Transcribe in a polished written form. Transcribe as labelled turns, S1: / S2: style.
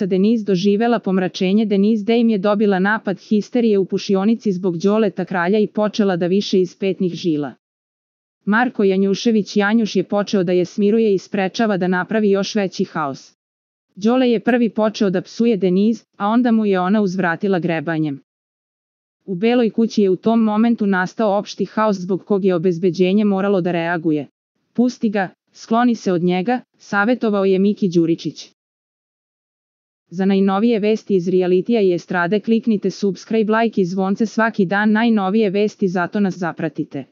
S1: Denise doživela pomračenje. Denise Dame je dobila napad histerije u pušionici zbog Đoleta kralja i počela da više iz petnih žila. Marko Janjušević Janjuš je počeo da je smiruje i sprečava da napravi još veći haos. Đole je prvi počeo da psuje Denise, a onda mu je ona uzvratila grebanjem. U Beloj kući je u tom momentu nastao opšti haos zbog kog je obezbeđenje moralo da reaguje. Pusti ga, skloni se od njega, savetovao je Miki Đuričić. Za najnovije vesti iz realitija i estrade kliknite subscribe, like i zvonce svaki dan. Najnovije vesti, zato nas zapratite.